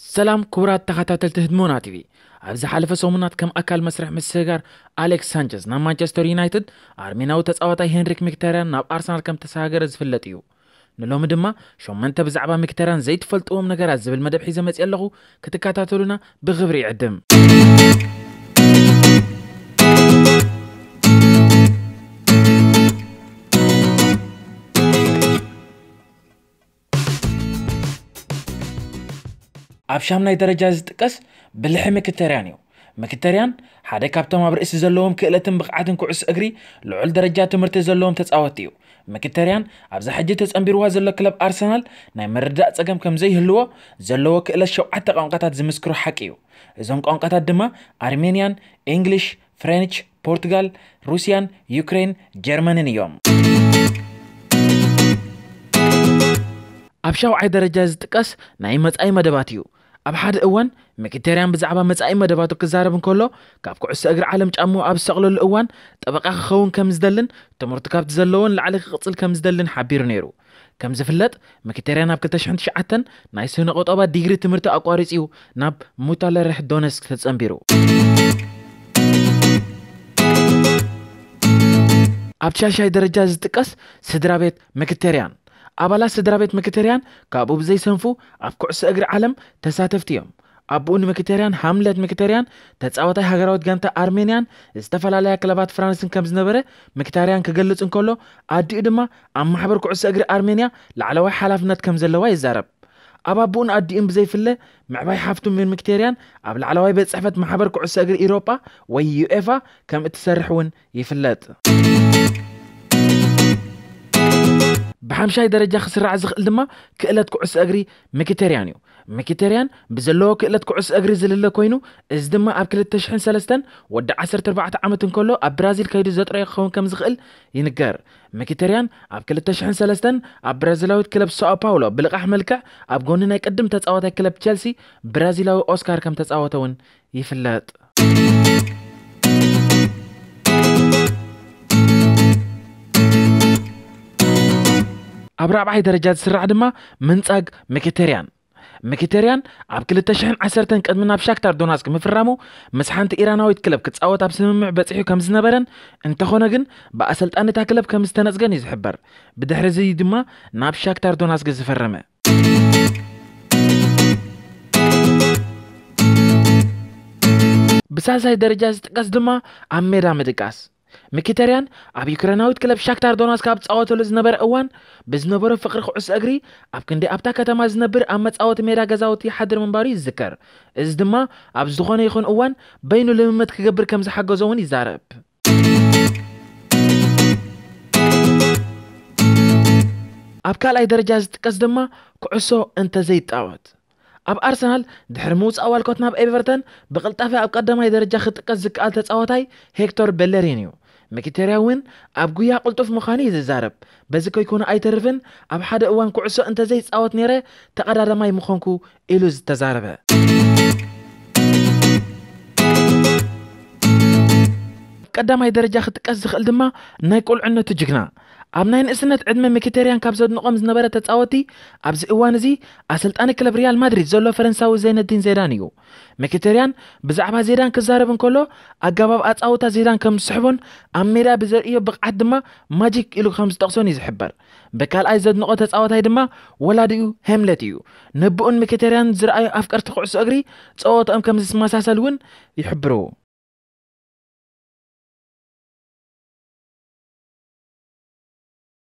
ሰላም ክቡራት ተኸታተልቲ ህድሞና ቲቪ። ኣብ ዝሓለፈ ሰሙናት ከም ኣካል መስርሕ ምስግጋር ኣሌክስ ሳንቸዝ ናብ ማንቸስተር ዩናይትድ፣ ኣርሜናዊ ተጻዋታይ ሄንሪክ ሚክተርያን ናብ ኣርሰናል ከም ተሰጋገረ ዝፍለጥ እዩ። ንሎሚ ድማ ሸሞንተ ብዛዕባ ሚክተርያን ዘይትፈልጥዎም ነገራት ዝብል መደብ ሒዘ መጽእ ኣለኹ። ክትከታተሉና ብኽብሪ ይዕድም። ኣብ ሻምናይ ደረጃ ዝጥቀስ ብልሒ ምክተርያን እዩ። ምክተርያን ሓደ ካብቶም ኣብ ርእሲ ዘለዎም ክእለትን ብቕዓትን ኩዕሶ እግሪ ልዑል ደረጃ ትምህርቲ ዘለዎም ተጻወትቲ እዩ። ምክተርያን ኣብዛ ሕጂ ተጸንቢርዋ ዘሎ ክለብ ኣርሰናል ናይ ምርዳእ ጸገም ከም ዘይህልዎ ዘለዎ ክእለት ሸውዓተ ቋንቋታት ዝምስክሮ ሓቂ እዩ። እዞም ቋንቋታት ድማ ኣርሜንያን፣ ኢንግሊሽ፣ ፍሬንች፣ ፖርቱጋል፣ ሩስያን፣ ዩክሬን፣ ጀርመንን እዮም። ኣብ ሻውዓይ ደረጃ ዝጥቀስ ናይ መጻኢ መደባት እዩ። ኣብ ሓደ እዋን ምክተርያን ብዛዕባ መጻኢ መደባቱ ክዛረብ እንከሎ፣ ካብ ኩዕሶ እግሪ ዓለም ጫምኡ ኣብ ዝሰቕለሉ እዋን ጠበቃ ክኸውን ከም ዝደልን ትምህርቱ ካብቲ ዘለዎን ላዕሊ ክቕጽል ከም ዝደልን ሓቢሩ ነይሩ። ከም ዝፍለጥ ምክተርያን ኣብ ክልተ ሽሕን ትሽዓተን ናይ ስነ ቆጠባ ዲግሪ ትምህርቲ ኣቋሪጹ እዩ ናብ ሙታለርሕ ዶነስክ ተጸንቢሩ። ኣብ ሻሻይ ደረጃ ዝጥቀስ ስድራ ቤት ምክተርያን። ኣባላት ስድራ ቤት ምክተርያን ካብኡ ብዘይሰንፉ ኣብ ኩዕሶ እግሪ ዓለም ተሳተፍቲ እዮም። ኣቦኡ ንምክተርያን ሃምለት ምክተርያን ተጻዋታይ ሃገራዊት ጋንታ ኣርሜንያን ዝተፈላለያ ክለባት ፍራንስን ከም ዝነበረ ምክታርያን ክገልጽ እንከሎ፣ ኣዲኡ ድማ ኣብ ማሕበር ኩዕሶ እግሪ ኣርሜንያ ላዕለዋይ ሓላፍነት ከም ዘለዋ ይዛረብ። ኣብ ኣቦኡን ኣዲኡን ብዘይፍለ ምዕባይ ሓፍቱ ምክተርያን ኣብ ላዕለዋይ ቤት ጽሕፈት ማሕበር ኩዕሶ እግሪ ኢሮጳ ወይ ዩኤፋ ከም እትሰርሕ እውን ይፍለጥ። ብሓምሻይ ደረጃ ክስራዕ ዝኽእል ድማ ክእለት ኩዕሶ እግሪ ምክተርያን እዩ። ምክተርያን ብዘለዎ ክእለት ኩዕሶ እግሪ ዝልለ ኮይኑ፣ እዚ ድማ ኣብ ክልተ ሽሕን ሰለስተን ወዲ ዓሰርተ ኣርባዕተ ዓመት እንከሎ ኣብ ብራዚል ከይዱ ዘጥረዮ ክኸውን ከም ዝኽእል ይንገር። ምክተርያን ኣብ ክልተ ሽሕን ሰለስተን ኣብ ብራዚላዊት ክለብ ሳኦ ፓውሎ ብልቓሕ መልክዕ ኣብ ጎኒ ናይ ቅድም ተጻዋታይ ክለብ ቸልሲ ብራዚላዊ ኦስካር ከም ተጻወተ እውን ይፍለጥ። ኣብ ራብዓይ ደረጃ ዝስራዕ ድማ ምንጻግ ምክተርያን። ምክተርያን ኣብ ክልተ ሽሕን ዓሰርተን ቅድሚ ናብ ሻክታር ዶናስክ ምፍራሙ ምስ ሓንቲ ኢራናዊት ክለብ ክጻወት ኣብ ስምምዕ በጺሑ ከም ዝነበረን፣ እንተኾነ ግን ብኣሰልጣኒ እታ ክለብ ከም ዝተነጽገን እዩ ዝሕበር። ብድሕሪ እዚ ድማ ናብ ሻክታር ዶናስክ ዝፈረመ። ብሳልሳይ ደረጃ ዝጥቀስ ድማ ኣብ ሜዳ ምድቃስ። ምኪተርያን ኣብ ዩክሬናዊት ክለብ ሻክታር ዶናስክ ኣብ ዝጻወተሉ ዝነበረ እዋን ብዝነበሮ ፍቕሪ ኩዕሶ እግሪ ኣብ ክንዲ ኣብታ ከተማ ዝነብር ኣብ መጻወቲ ሜዳ ገዛውቲ ይሓድር ምንባሩ ይዝከር። እዚ ድማ ኣብ ዝኾነ ይኹን እዋን በይኑ ልምምድ ክገብር ከም ዝሓገዞ እውን ይዛረብ። ኣብ ካልኣይ ደረጃ ዝጥቀስ ድማ ኩዕሶ እንተዘይጻወት። ኣብ ኣርሰናል ድሕሪ ምውጻእ ዋልኮት ናብ ኤቨርተን ብቕልጣፈ ኣብ ቀዳማይ ደረጃ ክጥቀስ ዝከኣል ተጻዋታይ ሄክቶር ቤለሪን እዩ። ምኪተርያ እውን ኣብ ጉያ ቅልጡፍ ምዃኑ እዩ ዝዛረብ። በዚ ከይኮነ ኣይተርፍን፣ ኣብ ሓደ እዋን ኩዕሶ እንተዘይጻወት ነይረ ተቐዳዳማይ ምኾንኩ ኢሉ ዝተዛረበ። ቀዳማይ ደረጃ ክጥቀስ ዝኽእል ድማ ናይ ቁልዕነቱ ጅግና። ኣብ ናይ ንእስነት ዕድመ ምኪተርያን ካብ ዘድንቖም ዝነበረ ተጻወቲ ኣብዚ እዋን እዚ ኣሰልጣኒ ክለብ ሪያል ማድሪድ ዘሎ ፈረንሳዊ ዘይነዲን ዜዳን እዩ። ምኪተርያን ብዛዕባ ዜዳን ክዛረብ እንከሎ ኣገባብ ኣጻውታ ዜዳን ከም ዝስሕቦን ኣብ ሜዳ ብዘርእዮ ብቕዓት ድማ ማጂክ ኢሉ ከም ዝጠቕሶን እዩ ዝሕበር። ብካልኣይ ዘድንቖ ተጻዋታይ ድማ ወላዲኡ ሄምለት እዩ። ነብኡን ምኪተርያን ዝረኣዩ ኣፍቀርቲ ኩዕሶ እግሪ ጸወትኦም ከም ዝመሳሰል እውን ይሕብሩ።